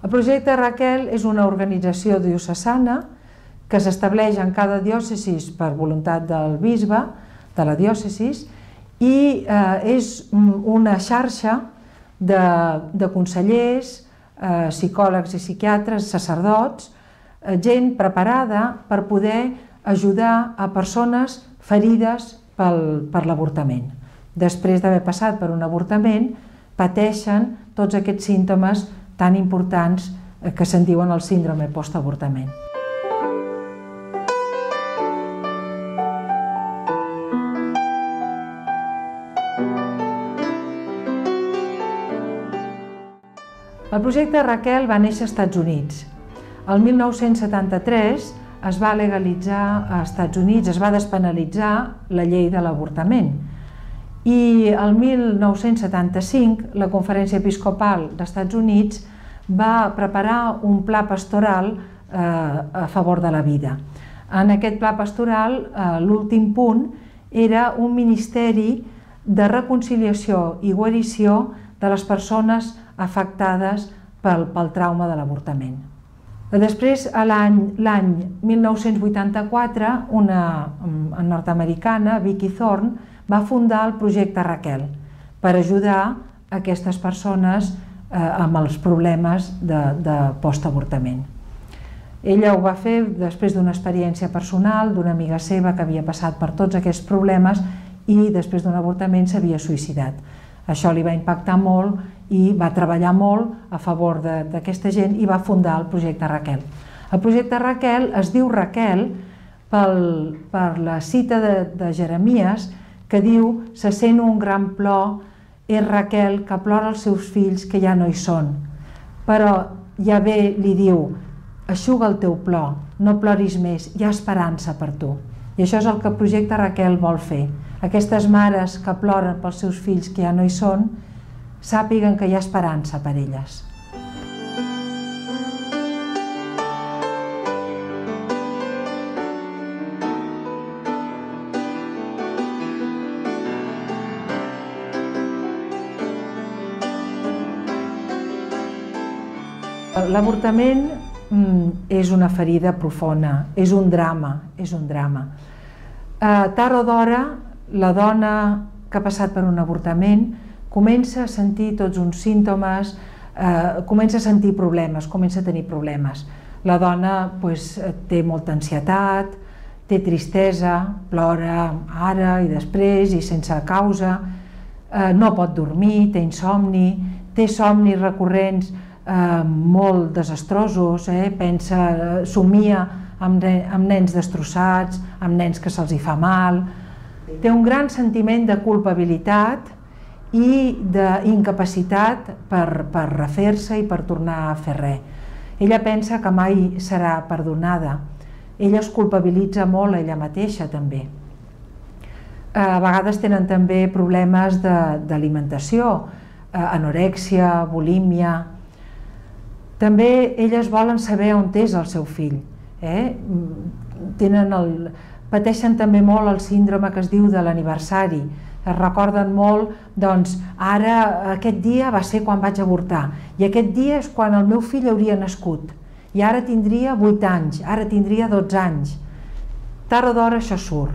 El projecte Raquel és una organització diocesana que s'estableix en cada diòcesi per voluntat del bisbe de la diòcesi i és una xarxa de consellers, psicòlegs i psiquiatres, sacerdots, gent preparada per poder ajudar a persones ferides per l'avortament. Després d'haver passat per un avortament, pateixen tots aquests símptomes tan importants que se'n diuen el síndrome postavortament. El projecte Raquel va néixer als Estats Units. El 1973 es va legalitzar als Estats Units, es va despenalitzar la llei de l'avortament. I el 1975 la Conferència Episcopal dels Estats Units va preparar un pla pastoral a favor de la vida. En aquest pla pastoral, l'últim punt era un ministeri de reconciliació i guarició de les persones afectades pel trauma de l'avortament. Després, l'any 1984, una nord-americana, Vicky Thorne, va fundar el projecte Raquel per ajudar aquestes persones amb els problemes de postavortament. Ella ho va fer després d'una experiència personal d'una amiga seva que havia passat per tots aquests problemes i després d'un avortament s'havia suïcidat. Això li va impactar molt i va treballar molt a favor d'aquesta gent i va fundar el projecte Raquel. El projecte Raquel es diu Raquel per la cita de Jeremies que diu: se sent un gran plor, és Raquel que plora els seus fills que ja no hi són. Però Yahvé li diu: eixuga el teu plor, no ploris més, hi ha esperança per tu. I això és el que el projecte Raquel vol fer. Aquestes mares que ploren pels seus fills que ja no hi són, sàpiguen que hi ha esperança per elles. L'avortament és una ferida profunda, és un drama, és un drama. Tard o d'hora, la dona que ha passat per un avortament comença a sentir tots uns símptomes, comença a sentir problemes, comença a tenir problemes. La dona té molta ansietat, té tristesa, plora ara i després i sense causa, no pot dormir, té insomni, té somnis recurrents molt desastrosos, somia amb nens destrossats, amb nens que se'ls fa mal. Té un gran sentiment de culpabilitat i d'incapacitat per refer-se i per tornar a fer res. Ella pensa que mai serà perdonada. Ella es culpabilitza molt a ella mateixa també. A vegades tenen també problemes d'alimentació, anorèxia, bulímia. També elles volen saber on és el seu fill. Pateixen també molt el síndrome que es diu de l'aniversari. Es recorden molt, doncs, ara aquest dia va ser quan vaig avortar i aquest dia és quan el meu fill hauria nascut i ara tindria 8 anys, ara tindria 12 anys. Tard o d'hora això surt.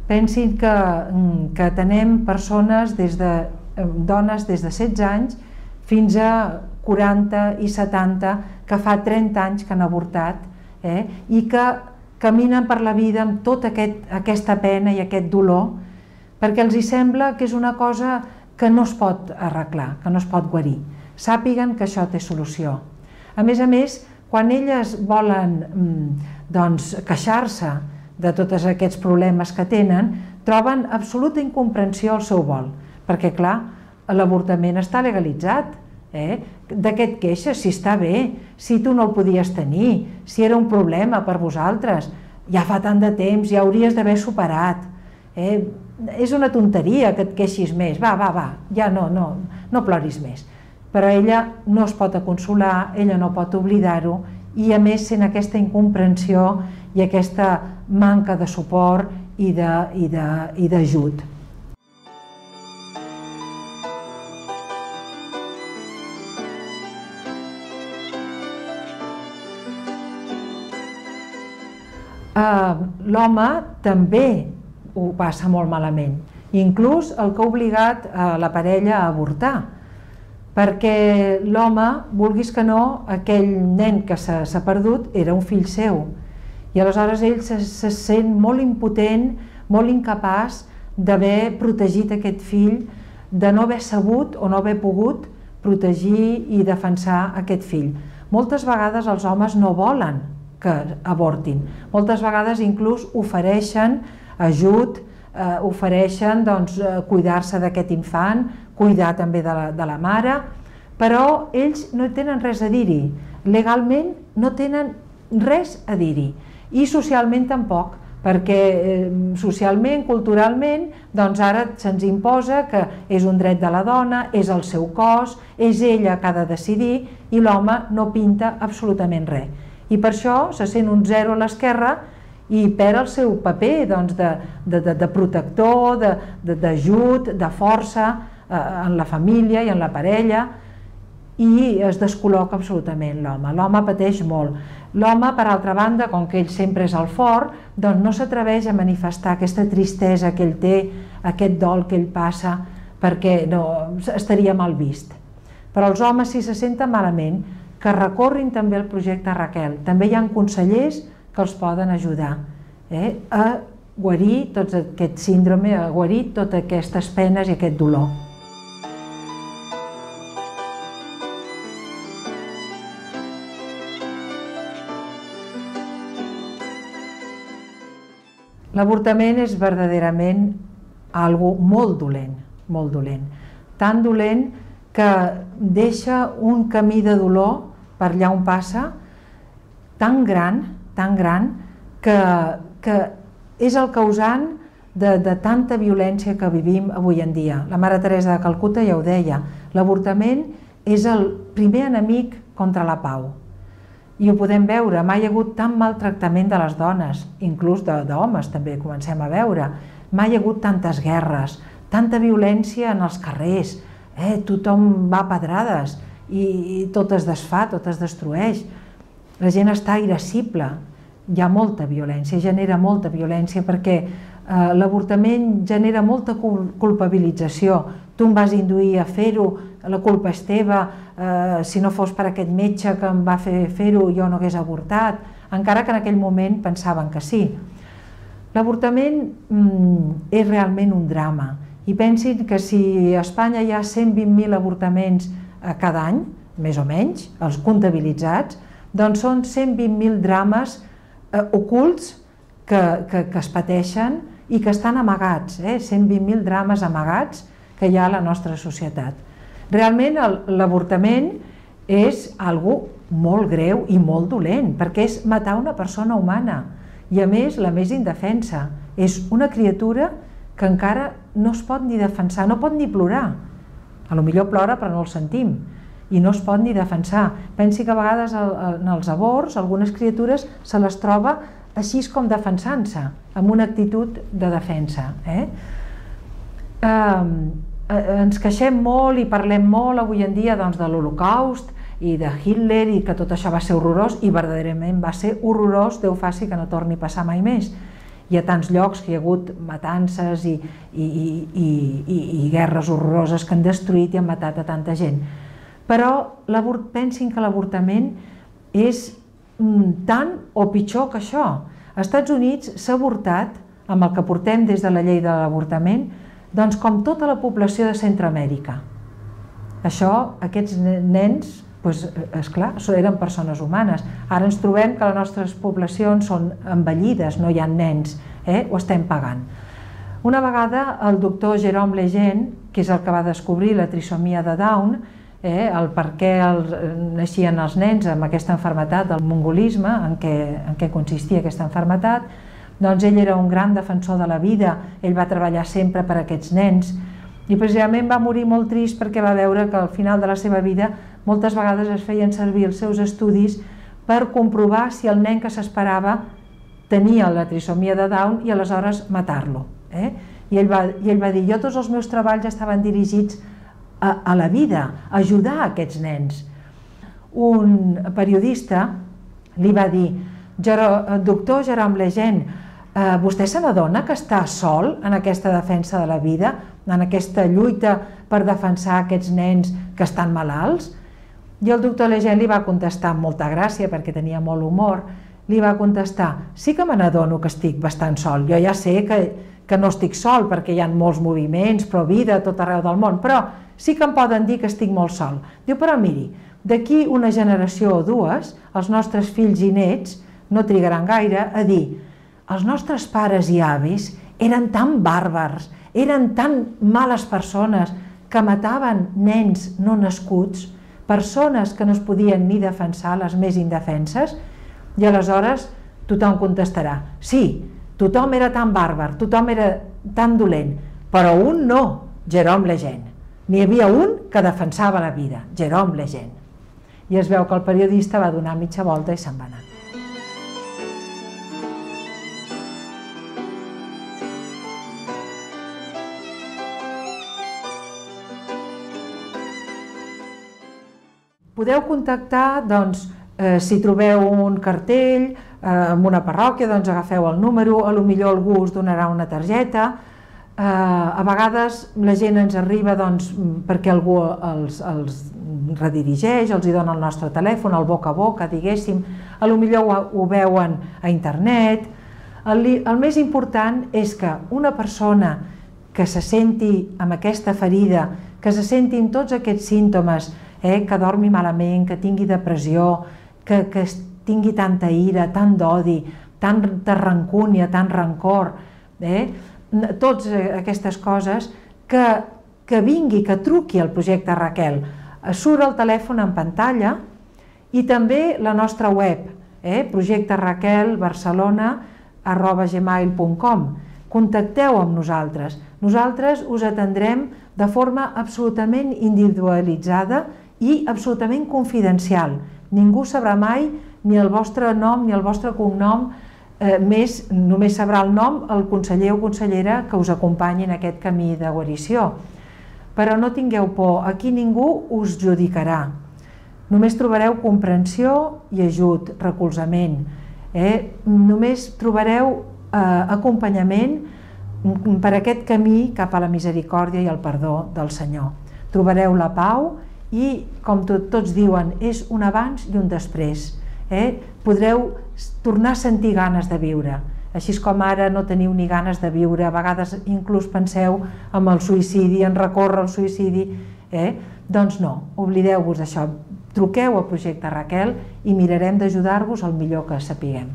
Pensin que tenem persones, dones des de 16 anys fins a 40 i 70 que fa 30 anys que han avortat i que caminen per la vida amb tota aquesta pena i aquest dolor perquè els sembla que és una cosa que no es pot arreglar, que no es pot guarir. Sàpiguen que això té solució. A més, quan elles volen queixar-se de tots aquests problemes que tenen, troben absoluta incomprensió al seu vol, perquè clar, l'avortament està legalitzat. De què et queixes? Si està bé, si tu no el podies tenir, si era un problema per vosaltres, ja fa tant de temps, ja hauries d'haver superat. És una tonteria que et queixis més, va, ja no ploris més. Però ella no es pot consolar, ella no pot oblidar-ho i a més sent aquesta incomprensió i aquesta manca de suport i d'ajut. L'home també ho passa molt malament, inclús el que ha obligat la parella a avortar, perquè l'home, vulguis que no, aquell nen que s'ha perdut era un fill seu, i aleshores ell se sent molt impotent, molt incapaç d'haver protegit aquest fill, de no haver sabut o no haver pogut protegir i defensar aquest fill. Moltes vegades els homes no volen que avortin, moltes vegades inclús ofereixen ajut, ofereixen cuidar-se d'aquest infant, cuidar també de la mare, però ells no tenen res a dir-hi, legalment no tenen res a dir-hi, i socialment tampoc, perquè socialment, culturalment, doncs ara se'ns imposa que és un dret de la dona, és el seu cos, és ella que ha de decidir, i l'home no pinta absolutament res. I per això se sent un zero a l'esquerra i perd el seu paper de protector, d'ajut, de força en la família i en la parella, i es descol·loca absolutament l'home. L'home pateix molt. L'home, per altra banda, com que ell sempre és el fort, doncs no s'atreveix a manifestar aquesta tristesa que ell té, aquest dol que ell passa, perquè estaria mal vist. Però els homes, si se senten malament, que recorrin també al projecte Raquel. També hi ha consellers que els poden ajudar a guarir tot aquest síndrome, a guarir totes aquestes penes i aquest dolor. L'avortament és verdaderament algo molt dolent, molt dolent. Tan dolent que deixa un camí de dolor per allà on passa, tan gran, que és el causant de tanta violència que vivim avui en dia. La Mare Teresa de Calcuta ja ho deia, l'avortament és el primer enemic contra la pau. I ho podem veure, mai hi ha hagut tant maltractament de les dones, inclús d'homes també comencem a veure, mai hi ha hagut tantes guerres, tanta violència en els carrers, tothom va a pedrades i tot es desfà, tot es destrueix, la gent està irascible, hi ha molta violència, genera molta violència perquè l'avortament genera molta culpabilització, tu em vas induir a fer-ho, la culpa és teva, si no fos per aquest metge que em va fer fer-ho jo no hagués avortat, encara que en aquell moment pensaven que sí. L'avortament és realment un drama i pensin que si a Espanya hi ha 120.000 avortaments cada any, més o menys, els comptabilitzats, doncs són 120.000 drames ocults que es pateixen i que estan amagats, 120.000 drames amagats que hi ha a la nostra societat. Realment l'avortament és algo molt greu i molt dolent, perquè és matar una persona humana i a més la més indefensa. És una criatura que encara no es pot ni defensar, no pot ni plorar. Potser plora però no el sentim i no es pot ni defensar. Pensi que a vegades en els avorts algunes criatures se les troba així com defensant-se, amb una actitud de defensa. Ens queixem molt i parlem molt avui en dia de l'Holocaust i de Hitler i que tot això va ser horrorós i verdaderament va ser horrorós, Déu faci que no torni a passar mai més. Hi ha tants llocs que hi ha hagut matances i guerres horroroses que han destruït i han matat a tanta gent. Però pensin que l'avortament és tant o pitjor que això. Als Estats Units s'ha avortat, amb el que portem des de la llei de l'avortament, doncs com tota la població de Centroamèrica. Aquests nens, esclar, eren persones humanes. Ara ens trobem que les nostres poblacions són envellides, no hi ha nens, ho estem pagant. Una vegada el doctor Jerome Lejeune, que és el que va descobrir la trisomia de Down, el per què naixien els nens amb aquesta malaltia del mongolisme, en què consistia aquesta malaltia, doncs ell era un gran defensor de la vida, ell va treballar sempre per a aquests nens i precisament va morir molt trist perquè va veure que al final de la seva vida moltes vegades es feien servir els seus estudis per comprovar si el nen que s'esperava tenia la trisomia de Down i aleshores matar-lo. I ell va dir, jo tots els meus treballs estaven dirigits a la vida, a ajudar aquests nens. Un periodista li va dir, Doctor Jerome Lejeune, vostè se n'adona que està sol en aquesta defensa de la vida, en aquesta lluita per defensar aquests nens que estan malalts? I el doctor Lejeune li va contestar amb molta gràcia, perquè tenia molt humor, li va contestar: sí que me n'adono que estic bastant sol, jo ja sé que no estic sol perquè hi ha molts moviments, pro-vida a tot arreu del món, però sí que em poden dir que estic molt sol. Diu, però miri, d'aquí una generació o dues, els nostres fills i nets no trigaran gaire a dir: els nostres pares i avis eren tan bàrbars, eren tan males persones que mataven nens no nascuts, persones que no es podien ni defensar, les més indefenses, i aleshores tothom contestarà: sí, tothom era tan bàrbar, tothom era tan dolent, però un no, Jerome Lejeune. N'hi havia un que defensava la vida, Jerome Lejeune. I es veu que el periodista va donar mitja volta i se'n va anar. Podeu contactar, doncs, si trobeu un cartell en una parròquia, doncs agafeu el número, potser algú us donarà una targeta. A vegades la gent ens arriba perquè algú els redirigeix, els dona el nostre telèfon, el boca a boca, diguéssim, potser ho veuen a internet. El més important és que una persona que se senti amb aquesta ferida, que se senti amb tots aquests símptomes, que dormi malament, que tingui depressió, que tingui tanta ira, tant d'odi, tanta rancúnia, tant rancor, totes aquestes coses, que vingui, que truqui al projecte Raquel. Surt el telèfon en pantalla i també la nostra web, projecteraquelbarcelona@gmail.com. Contacteu amb nosaltres. Nosaltres us atendrem de forma absolutament individualitzada i absolutament confidencial. Ningú sabrà mai ni el vostre nom ni el vostre cognom, només sabrà el nom el conseller o consellera que us acompanyi en aquest camí de guarició. Però no tingueu por, aquí ningú us judicarà. Només trobareu comprensió i ajut, recolzament. Només trobareu acompanyament per aquest camí cap a la misericòrdia i el perdó del Senyor. Trobareu la pau i, com tots diuen, és un abans i un després. Podreu tornar a sentir ganes de viure. Així com ara no teniu ni ganes de viure, a vegades inclús penseu en el suïcidi, en recórrer al suïcidi. Doncs no, oblideu-vos d'això. Truqueu al projecte Raquel i mirarem d'ajudar-vos el millor que sapiguem.